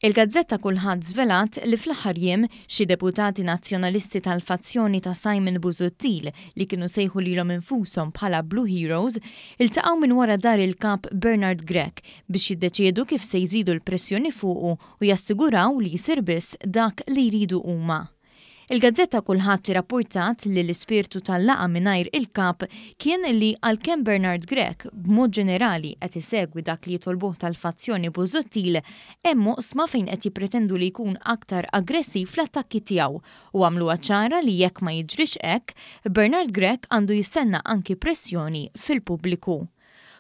Il-gazzetta Kullħadd żvelat li fl-aħħar jiem xi deputati Nazzjonalisti tal-fazzjoni ta' Simon Busuttil li kienu sejħu lilhom infushom bħala Blue Heroes iltaqgħu minn wara dar il-Kap Bernard Grech biex jiddeċiedu kif se jżidu l-pressjoni fuqu u jassiguraw li jsir biss dak li jridu huma. Il-gazzetta Kullħadd irrappurtat li l-ispirtu tal-laqgħa mingħajr il-Kap kien li għalkemm Bernard Grech b'mod ġenerali qed isegwi dak li jitolbuh tal-fazzjoni Busuttil, hemm oqsma fejn qed jippretendu li jkun aktar aggressiv fl-attakki tiegħu u għamluha ċara li jekk ma jiġrix hekk, Bernard Grech għandu jistenna anki pressjoni fil-pubbliku.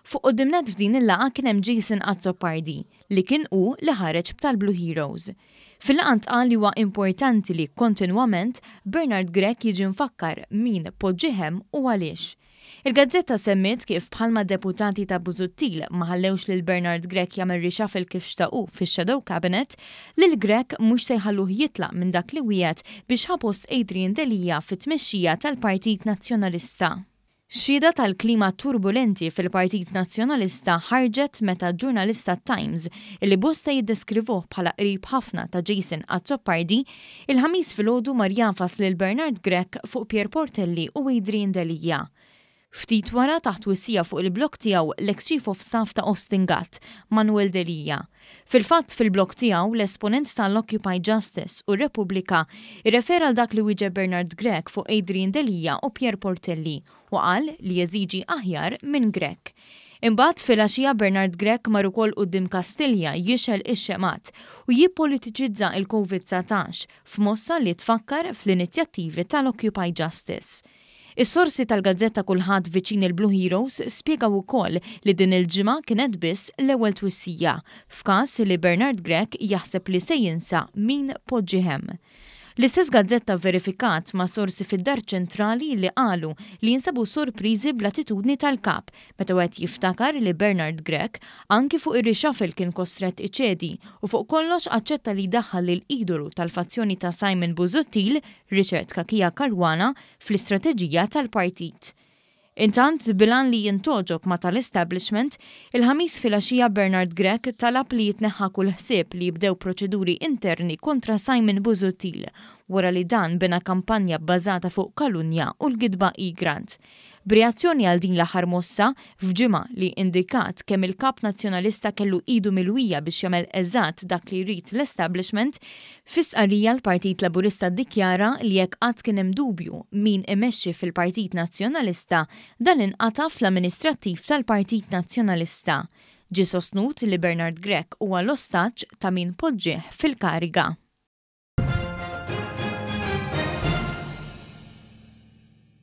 Fuq quddiem nett f'din il-laqgħa kien hemm Jason Azzopardi, li kien hu li ħareġ b'tal-Blue Heroes. Fil-laqgħa ntqal li huwa importanti li kontinwament Bernard Grech jiġi mfakkar min poġġih hemm u għaliex. Il-gazzetta semmiet kif bħalma deputati ta' Busuttil ma ħallewx lil Bernard Grech jagħmel reshuffle kif xtaqu fix-Shadow Cabinet, lil Grech mhux se jħalluh jitlaq minn dak li wiegħed biex ħa post Adrian Delia fit-tmexxija tal-Partit Nazzjonalista. Xhieda tal-klima turbulenti fil-Partit Nazzjonalista ħarġet meta ġurnalist tat-Times, illi bosta jiddeskrivuh bħala qrib ħafna ta' Jason Azzopardi, il-Ħamis filgħodu mar jagħfas lil Bernard Grech fuq Pierre Portelli u Adrian Delia. Ftit wara taħt twissija fuq il-blog tiegħu l-eks Chief of Staff ta' Austin Gatt, Manuel Delia. Fil-fatt, fil-blog tiegħu, l-esponent tal-Occupy Justice u Repubblika irrefera għal dak li wieġeb Bernard Grech fuq Adrian Delia u Pierre Portelli u qal li jeżiġi aħjar minn Grech. Imbagħad filgħaxija Bernard Grech mar ukoll quddiem Kastilja jixgħel ix-xemgħat u jippolitiċizza il-Covid 19 f'mossa li tfakkar fl-inizjattivi tal-Occupy Justice. Is-sorsi tal-gazzetta Kullħadd viċin il-Blue Heroes spjegaw ukoll li din il-ġimgħa kienet biss l-ewwel twissija f'każ li Bernard Grech jaħseb li se jinsa min poġġih hemm. L-istess gazzetta verifikat ma' sorsi fid-Dar Ċentrali li qalu li jinsabu sorpriżi bl-attitudni tal-kap meta wieħed jiftakar li Bernard Grech anki fuq ir-reshuffle kien kostrett iċedi u fuq kollox aċċetta li jdaħħal lil idolu tal-fazzjoni ta' Simon Busuttil, Richard Cachia Caruana, fl-istrateġija tal-partit. Intant, bil-għan li jintgħoġob ma' tal-establishment, il-Ħamis filgħaxija Bernard Grech talab li jitneħħa kull ħsieb li jibdew proċeduri interni kontra Simon Busuttil wara li dan bena kampanja bbażata fuq kalunja u l-gidba Egrant. B'reazzjoni għal din l-aħħar mossa, f'ġimgħa li indikat kemm il-kap nazzjonalista kellu idu milwija biex jagħmel eżatt dak li jrid l-establishment, fi stqarrija l-Partit Laburista ddikjara li jekk qatt kien hemm dubju min imexxi fil-Partit Nazzjonalista, dan inqata' fl-amministrattiv tal-Partit Nazzjonalista. Ġie sostnut li Bernard Grech huwa l-ostaġġ ta' min poġġih fil-kariga.